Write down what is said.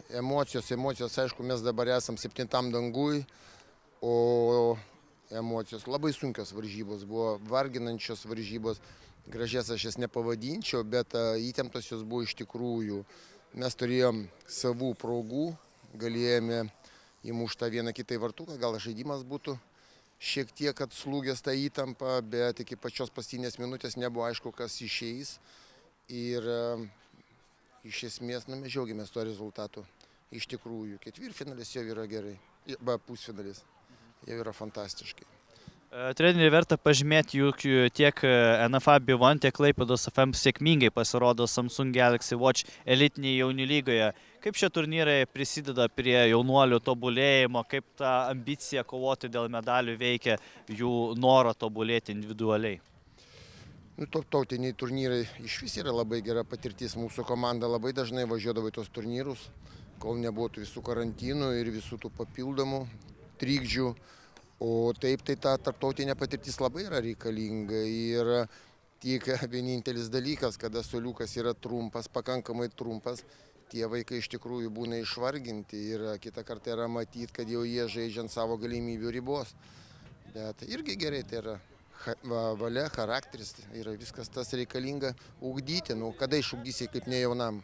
Emocijos, aišku, mes dabar esam 7 dangui, o emocijos labai sunkios varžybos, buvo varginančios varžybos, gražias aš jas nepavadinčiau, bet įtemptos jos buvo iš tikrųjų. Mes turėjom savų progų, galėjome įmušti vieną kitą vartuką, gal žaidimas būtų šiek tiek atslūgęs tą įtampą, bet iki pačios paskutinės minutės nebuvo aišku, kas išeis. Ir iš esmės mes džiaugiamės tuo rezultatu. Iš tikrųjų, ketvirtfinalis jau yra gerai, pusfinalis jau yra fantastiškai. Treneri, verta pažymėti, juk tiek NFA Bivon, tiek Klaipėdos FM sėkmingai pasirodo Samsung Galaxy Watch elitinėje jaunių lygoje. Kaip šie turnyrai prisideda prie jaunuolių tobulėjimo, kaip ta ambicija kovoti dėl medalių veikia jų norą tobulėti individualiai? Tautiniai turnyrai iš vis yra labai gera patirtis. Mūsų komanda labai dažnai važiuodavo į tos turnyrus, kol nebuvo visų karantinų ir visų tų papildomų trikdžių. O taip, tai ta tarptautinė patirtis labai yra reikalinga ir tik vienintelis dalykas, kada suoliukas yra trumpas, pakankamai trumpas, tie vaikai iš tikrųjų būna išvarginti ir kitą kartą yra matyti, kad jau jie žaidžia ant savo galimybių ribos. Bet irgi gerai, tai yra valia, charakteris, yra viskas tas reikalinga ugdyti, kada išugdysi kaip ne jaunam.